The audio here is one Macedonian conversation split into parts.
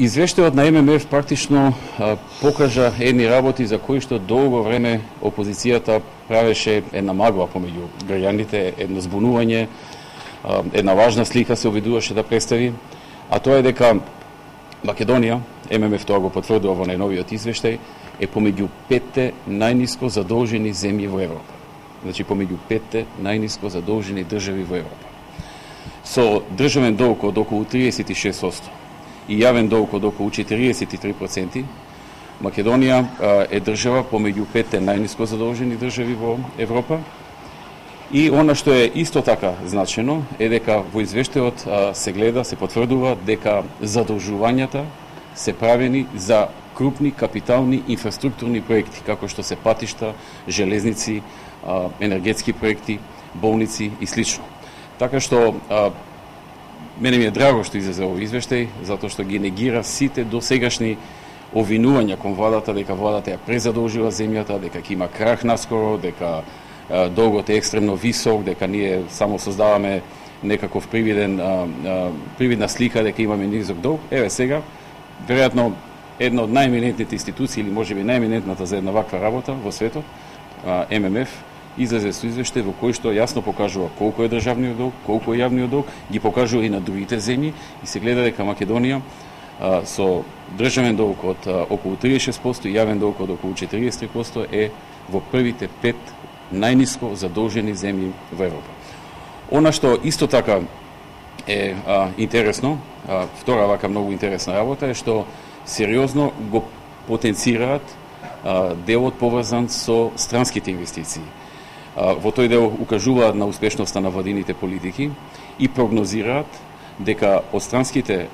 Извештајот на ММФ практично покажа едни работи за кои што долго време опозицијата правеше една магла помеѓу граѓаните, едно збунување, една важна слика се обидуваше да представи, а тоа е дека Македонија, ММФ тоа го потврдува во најновиот извештај, е помеѓу 5 најниско задолжени земји во Европа. Значи помеѓу 5 најниско задолжени држави во Европа. Со државен долг од околу 36% и јавен долг од околу 43%, Македонија е држава помеѓу 5 најниско задолжени држави во Европа. И она што е исто така значено е дека во извештајот се гледа, се потврдува дека задолжувањата се правени за крупни капитални инфраструктурни проекти, како што се патишта, железници, енергетски проекти, болници и слично. Така што мене ми е драго што излезе овој извештај, затоа што ги негира сите досегашни обвинувања кон владата дека владата ја презадолжила земјата, дека ќе има крах наскоро, дека долгот е екстремно висок, дека ние само создаваме некаков привидна слика дека имаме низок долг. Еве сега, веројатно една од најеминентните институции или можеби најеминентната за една ваква работа во светот, ММФ, излезе со извештај во кој што јасно покажува колку е државниот долг, колку е јавниот долг, ги покажува и на другите земји и се гледа дека Македонија со државен долг од околу 36% и јавен долг од околу 43% е во првите 5 најниско задолжени земји во Европа. Она што исто така е интересно, втора вака многу интересна работа е што сериозно го потенцираат делот поврзан со странските инвестиции. Во тој дел укажуваат на успешноста на владините политики и прогнозираат дека од странските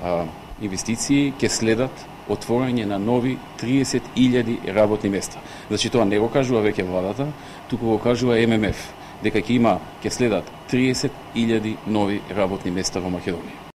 инвестиции ќе следат отворање на нови 30.000 работни места. Значи тоа не го кажува веќе владата, туку го кажува ММФ, дека ќе следат 30.000 нови работни места во Македонија.